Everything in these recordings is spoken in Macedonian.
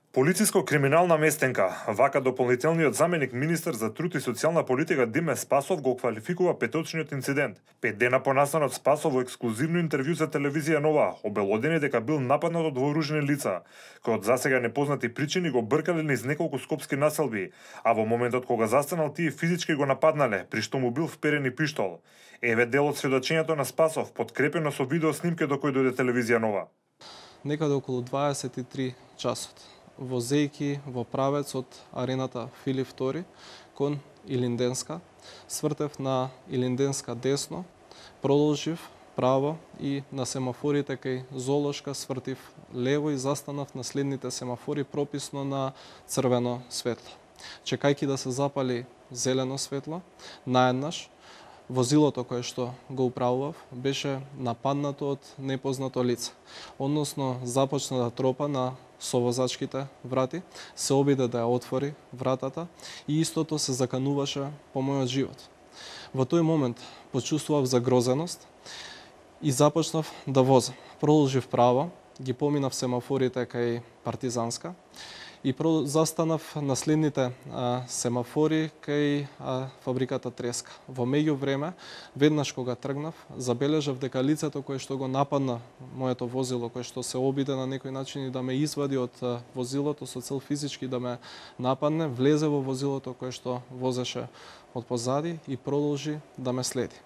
Полицијско-криминална местенка, вака дополнителниот заменик министер за труд и социјална политика Диме Спасов го квалификува петочниот инцидент. 5 дена понасано Спасов во ексклузивно интервју за телевизија Нова обелодени дека бил нападнат од вооружени лица, кои од засега непознати причини го бркале низ неколку скопски населби, а во моментот кога застанал тие физички го нападнале, при што му бил вперен и пиштол. Еве дел од сведочењето на Спасов, подкрепено со видео снимки до кој дојде телевизија Нова. Некаде околу 23 часот, возејки во правец од арената Филип II кон Илинденска, свртев на Илинденска десно, продолжив право и на семафорите кај Золошка свртив лево и застанав на следните семафори прописно на црвено светло. Чекајќи да се запали зелено светло, наеднаш возилото кое што го управував беше нападнато од непознато лице, односно започна да тропа на совозачките врати, се обиде да ја отвори вратата и истото се закануваше по мојот живот. Во тој момент почувствував загрозеност и започнав да возам. Продолжив право, ги поминав семафорите кај Партизанска и застанав на следните семафори кај фабриката Треска. Во меѓувреме, веднаш кога тргнав, забележав дека лицето кое што го нападна моето возило, кое што се обиде на некој начин и да ме извади од возилото со цел физички да ме нападне, влезе во возилото кое што возеше од позади и продолжи да ме следи.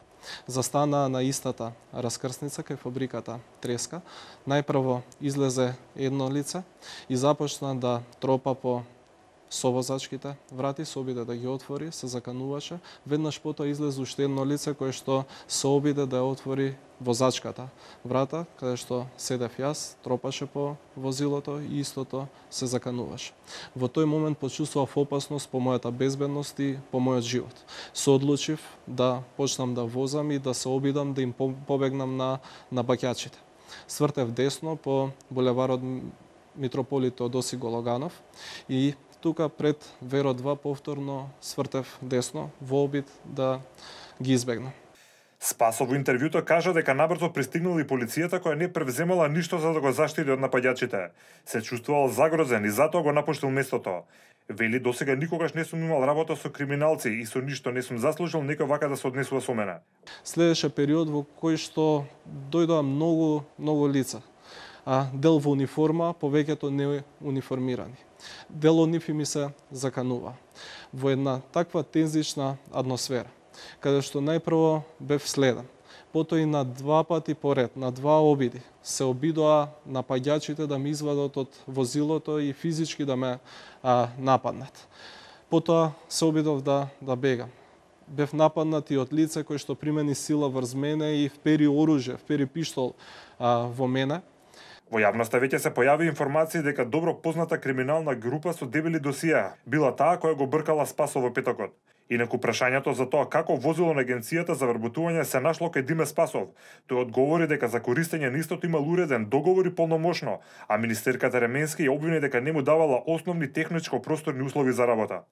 Застана на истата раскрсница кај фабриката Треска. Најпрво излезе едно лице и започна да тропа по совозачките врати, се обиде да ги отвори, се закануваше. Веднаш потоа излезе уште едно лице кое што се обиде да ја отвори возачката врата, каде што седев јас, тропаше по возилото и истото се закануваше. Во тој момент почувствував опасност по мојата безбедност и по мојот живот. Се одлучив да почнам да возам и да се обидам да им побегнам на баќачите. Свртев десно по булеварот Митрополит Теодоси Гологанов и тука пред Веро 2 повторно свртев десно во обид да ги избегнам. Спасов во интервјуто кажа дека набрзо пристигнала и полицијата која не превземала ништо за да го заштити од напаѓачите. Се чувствувал загрозен и затоа го напуштил местото. Вели, досега никогаш не сум имал работа со криминалци и со ништо не сум заслужил некој вака да се однесува со мене. Следеше период во кој што дојдоа многу лица. Дел во униформа, повеќето не униформирани. Дел од нив ми се заканува. Во една таква тензична атмосфера, каде што најпрво бев следен, потоа и на 2 пати поред, на 2 обиди, се обидоа напаѓачите да ме извадат од возилото и физички да ме нападнат. Потоа се обидов да бегам. Бев нападнат и од лице кој што примени сила врз мене и впери оружје, впери пиштол во мене. Во јавноста веќе се појави информации дека добро позната криминална група со дебели досија била таа која го бркала Спасов во петокот. Инаку прашањето за тоа како возило на агенцијата за вработување се нашло кај Диме Спасов, тој одговори дека за користење на истото имал уреден договор и полномошно, а министерката Ременски ја обвини дека не му давала основни техничко-просторни услови за работа.